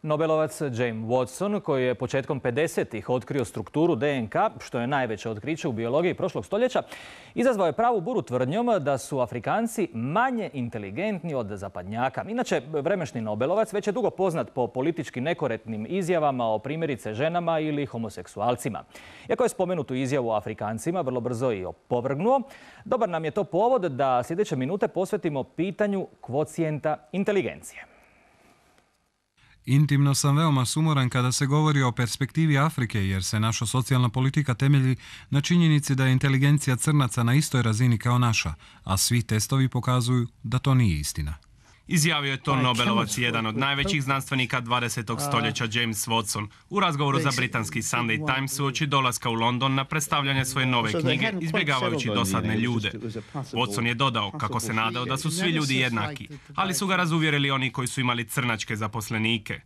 Nobelovac James Watson, koji je početkom 50-ih otkrio strukturu DNK, što je najveće otkriće u biologiji prošlog stoljeća, izazvao je pravu buru tvrdnjom da su Afrikanci manje inteligentni od zapadnjaka. Inače, vremešni Nobelovac već je dugo poznat po politički nekorektnim izjavama o primjerice ženama ili homoseksualcima. Iako je spomenutu izjavu o Afrikancima vrlo brzo i opovrgnuo, dobar nam je to povod da sljedeće minute posvetimo pitanju kvocijenta inteligencije. Intimno sam veoma sumoran kada se govori o perspektivi Afrike, jer se naša socijalna politika temelji na činjenici da je inteligencija crnaca na istoj razini kao naša, a svi testovi pokazuju da to nije istina. Izjavio je to Nobelovac, jedan od najvećih znanstvenika 20. stoljeća James Watson, u razgovoru za britanski Sunday Times uoči dolaska u London na predstavljanje svoje nove knjige, izbjegavajući dosadne ljude. Watson je dodao kako se nadao da su svi ljudi jednaki, ali su ga razuvjerili oni koji su imali crnačke zaposlenike.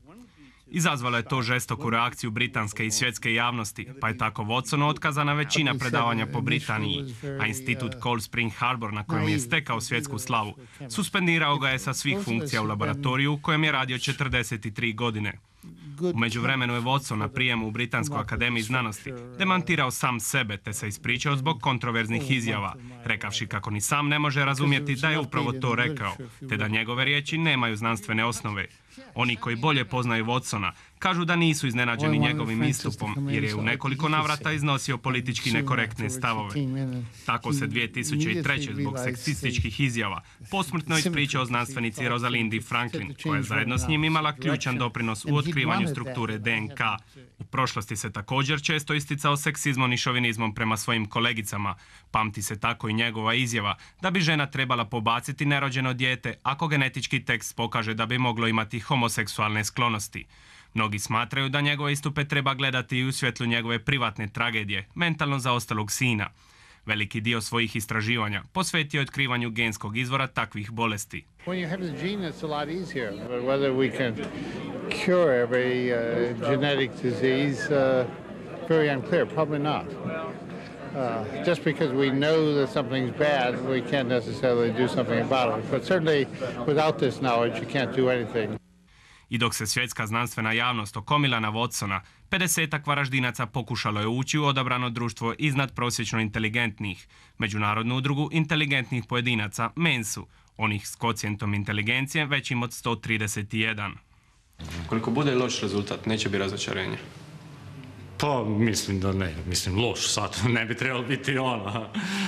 Izazvalo je to žestoku reakciju britanske i svjetske javnosti, pa je tako Watsonu otkazana većina predavanja po Britaniji, a institut Cold Spring Harbor, na kojem je stekao svjetsku slavu, suspendirao ga je sa svih funkcija u laboratoriju u kojem je radio 43 godine. U međuvremenu je Watson na prijemu u Britanskoj akademiji znanosti demantirao sam sebe te se ispričao zbog kontroverznih izjava, rekavši kako ni sam ne može razumjeti da je upravo to rekao, te da njegove riječi nemaju znanstvene osnove. Oni koji bolje poznaju Watsona kažu da nisu iznenađeni njegovim istupom, jer je u nekoliko navrata iznosio politički nekorektne stavove. Tako se 2003. zbog seksističkih izjava posmrtno ispričao znanstvenici Rosalindi Franklin, koja je zajedno s njim imala ključan doprinos u otkrivanju strukture DNK. U prošlosti se također često isticao seksizmom i šovinizmom prema svojim kolegicama. Pamti se tako i njegova izjava da bi žena trebala pobaciti nerođeno dijete ako genetički tekst pokaže da bi moglo imati homoseksualne sklonosti. Mnogi smatraju da njegove istupe treba gledati i u svjetlu njegove privatne tragedije, mentalno zaostalog sina. Veliki dio svojih istraživanja posvetio je otkrivanju genskog izvora takvih bolesti. When you have the gene, it's a lot easier. But whether we can cure every genetic disease, very unclear. Probably not. Just because we know that something's bad, we can't necessarily do something about it. But certainly, without this knowledge, you can't do anything. I dok se svjetska znanstvena javnost okomila na Watsona, 50-ak Varaždinaca pokušalo je ući u odabrano društvo iznad prosječno inteligentnih, Međunarodnu udrugu inteligentnih pojedinaca, Mensu, onih s kvocijentom inteligencije većim od 131. Koliko bude loš rezultat, neće biti razočarenje. Pa mislim da ne, mislim loš sad, ne bi trebalo biti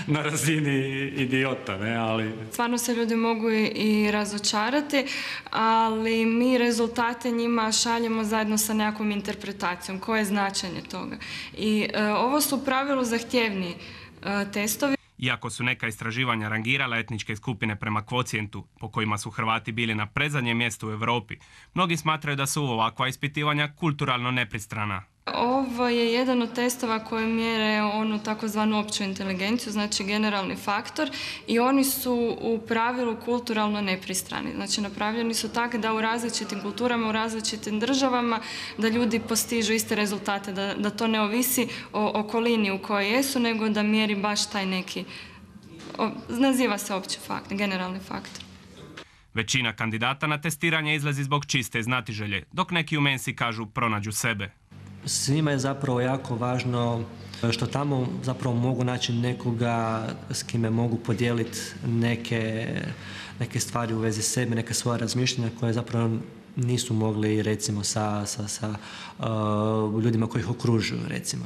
na razini idiota, ne, ali... Stvarno se ljudi mogu i razočarati, ali mi rezultate njima šaljemo zajedno sa nekakvom interpretacijom, koje je značenje toga. I ovo su u pravilu zahtjevni testovi. Iako su neka istraživanja rangirala etničke skupine prema kvocijentu, po kojima su Hrvati bili na predzadnjem mjestu u Europi, mnogi smatraju da su ovakva ispitivanja kulturalno nepristrana. Ovo je jedan od testova koje mjere onu takozvanu opću inteligenciju, znači generalni faktor, i oni su u pravilu kulturalno nepristrani. Znači napravljeni su tako da u različitim kulturama, u različitim državama, da ljudi postižu iste rezultate, da to ne ovisi o okolini u kojoj jesu, nego da mjeri baš taj neki, naziva se opći faktor, generalni faktor. Većina kandidata na testiranje izlazi zbog čiste znatiželje, dok neki u Mensi kažu pronađu sebe. Svima je zapravo jako važno što tamo zapravo mogu naći nekoga s kime mogu podijeliti neke stvari u vezi sebe, neke svoje razmišljanja koje zapravo nisu mogli recimo sa ljudima koji ih okružuju recimo.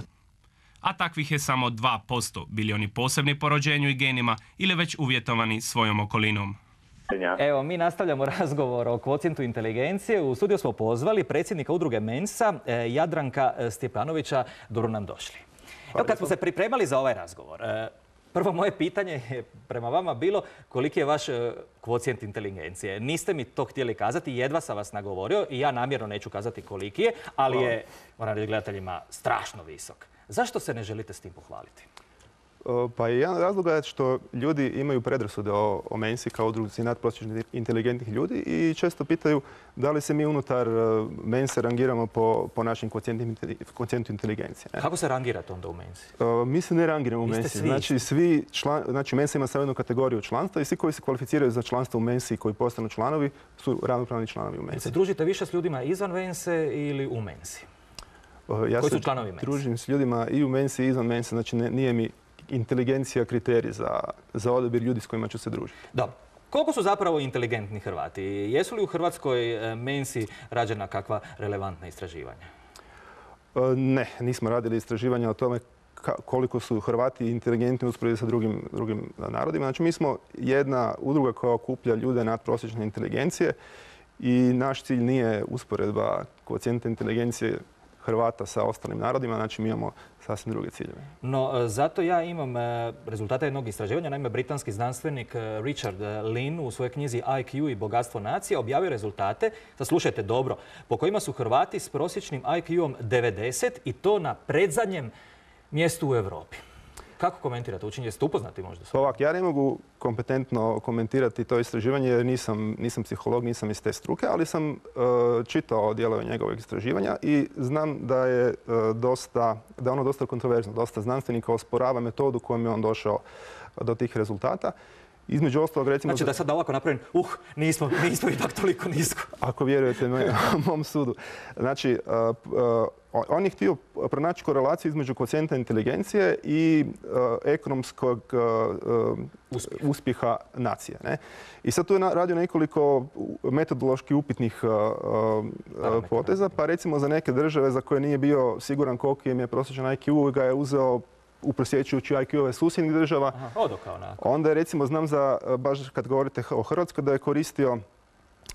A takvih je samo 2%, bili oni posebni po rođenju i genima ili već uvjetovani svojom okolinom. Evo, mi nastavljamo razgovor o kvocijentu inteligencije. U studiju smo pozvali predsjednika udruge Mensa, Jadranka Stjepanovića. Dobro nam došli. Evo, kad smo se pripremali za ovaj razgovor, prvo moje pitanje je prema vama bilo koliki je vaš kvocijent inteligencije. Niste mi to htjeli kazati, jedva sam vas nagovorio i ja namjerno neću kazati koliki je, ali je, moram reći gledateljima, strašno visok. Zašto se ne želite s tim pohvaliti? Pa jedan od razloga je što ljudi imaju predrasude o Mensi kao udruzi nadprosječno inteligentnih ljudi i često pitaju da li se mi unutar Mense rangiramo po našim kvocijentu inteligencije. Kako se rangirate onda u Mensi? Mi se ne rangiramo u Mensi. Znači, Mensa ima samo jednu kategoriju članstva i svi koji se kvalificiraju za članstvo u Mensi i koji postanu članovi su ravnopravni članovi u Mensi. Se družite više s ljudima izvan Mense ili u Mensi? Koji su članovi Mensi? Ja se družim s ljudima i u Mensi i izvan Mense. Znači, nije mi inteligencija kriterij za odabir ljudi s kojima ću se družiti. Dobro. Koliko su zapravo inteligentni Hrvati? Jesu li u Hrvatskoj Mensi rađena kakva relevantna istraživanja? Ne, nismo radili istraživanja o tome koliko su Hrvati inteligentni u usporedbi sa drugim narodima. Znači, mi smo jedna udruga koja okuplja ljude nadprosječne inteligencije i naš cilj nije usporedba koeficijenta inteligencije Hrvata sa ostalim narodima, znači mi imamo sasvim druge ciljeve. No, zato ja imam rezultate jednog istraživanja. Naime, britanski znanstvenik Richard Lynn u svojoj knjizi IQ i bogatstvo nacije objavio rezultate, sad slušajte dobro, po kojima su Hrvati s prosječnim IQ-om 90 i to na predzadnjem mjestu u Europi. Kako komentirate učenje? Jeste upoznati možda? Ovak, ja ne mogu kompetentno komentirati to istraživanje jer nisam psiholog, nisam iz te struke, ali sam čitao dijelove njegovog istraživanja i znam da je ono dosta kontroverzno. Dosta znanstvenika osporava metodu kojom je on došao do tih rezultata. Između ostalog, recimo... Znači da sad ovako napravim, nismo ipak toliko nisko. Ako vjerujete mom sudu. Znači, on je htio pronaći korelaciju između koeficijenta inteligencije i ekonomskog uspjeha nacije. Ne? I sad tu je radio nekoliko metodološki upitnih poteza, pa recimo za neke države za koje nije bio siguran koliki im je prosječan IQ, ga je uzeo uprosječujući IQ-ove susjednih država. Onda je, recimo, znam za, baš kad govorite o Hrvatskoj, da je koristio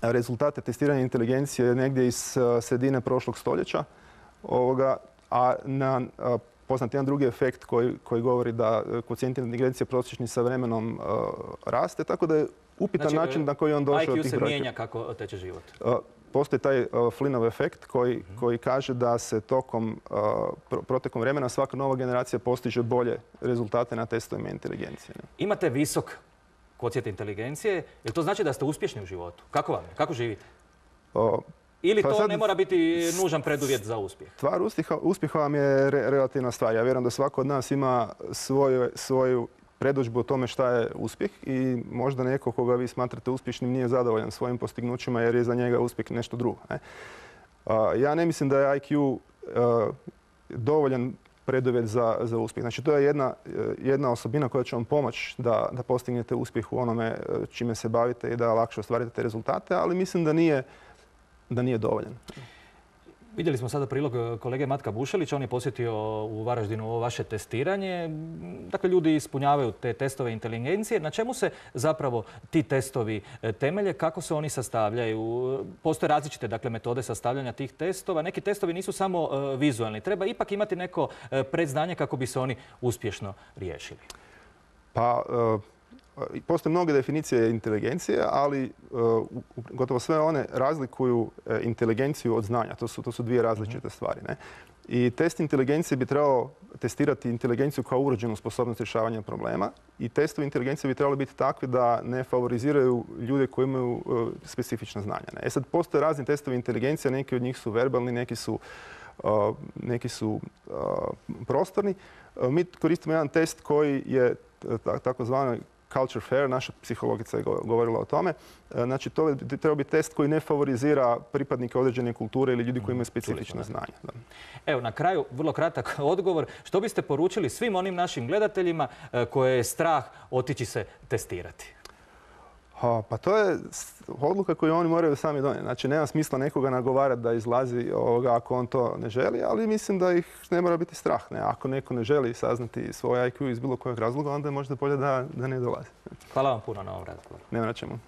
rezultate testiranja inteligencije negdje iz sredine prošlog stoljeća. A poznat jedan drugi efekt koji govori da koeficijent inteligencije prosječni sa vremenom raste, tako da je upitan način na koji on došao do tih brojki. IQ se mijenja kako teče život. Postoji taj Flynnov efekt koji kaže da se protekom vremena svaka nova generacija postiže bolje rezultate na testovima inteligencije. Imate visok koeficijent inteligencije, jel to znači da ste uspješni u životu? Kako vam je? Kako živite? Ili to ne mora biti nužan preduvjet za uspjeh? Stvar uspjeha vam je relativna stvar. Ja vjerujem da svako od nas ima svoju predodžbu o tome šta je uspjeh i možda neko koga vi smatrate uspješnim nije zadovoljan svojim postignućima jer je za njega uspjeh nešto drugo. Ja ne mislim da je IQ dovoljan preduvjet za uspjeh. Znači, to je jedna osobina koja će vam pomoći da postignete uspjeh u onome čime se bavite i da lakše ostvarite te rezultate, ali mislim da nije dovoljan. Vidjeli smo sada prilog kolege Matka Bušelića, on je posjetio u Varaždinu ovo vaše testiranje. Dakle, ljudi ispunjavaju te testove inteligencije. Na čemu se zapravo ti testovi temelje? Kako se oni sastavljaju? Postoje različite metode sastavljanja tih testova. Neki testovi nisu samo vizualni. Treba ipak imati neko predznanje kako bi se oni uspješno riješili. Pa, postoje mnoge definicije inteligencije, ali gotovo sve one razlikuju inteligenciju od znanja. To su dvije različite stvari. Ne? I test inteligencije bi trebao testirati inteligenciju kao urođenu sposobnost rješavanja problema i testovi inteligencije bi trebali biti takvi da ne favoriziraju ljude koji imaju specifična znanja. Ne? Sad, postoje razni testovi inteligencije, neki od njih su verbalni, neki su prostorni. Mi koristimo jedan test koji je takozvani culture fair, naša psihologica je govorila o tome. Znači, to bi trebao biti test koji ne favorizira pripadnike određene kulture ili ljudi koji imaju specifična znanja. Evo, na kraju, vrlo kratak odgovor. Što biste poručili svim onim našim gledateljima koje je strah otići se testirati? Pa to je odluka koju oni moraju sami donijeti. Znači, nema smisla nekoga nagovarati da izlazi ako on to ne želi, ali mislim da ih ne mora biti strah. Ako neko ne želi saznati svoj IQ iz bilo kojeg razloga, onda je možda bolje da ne dolazi. Hvala vam puno na ovom razgovoru. Nema na čemu.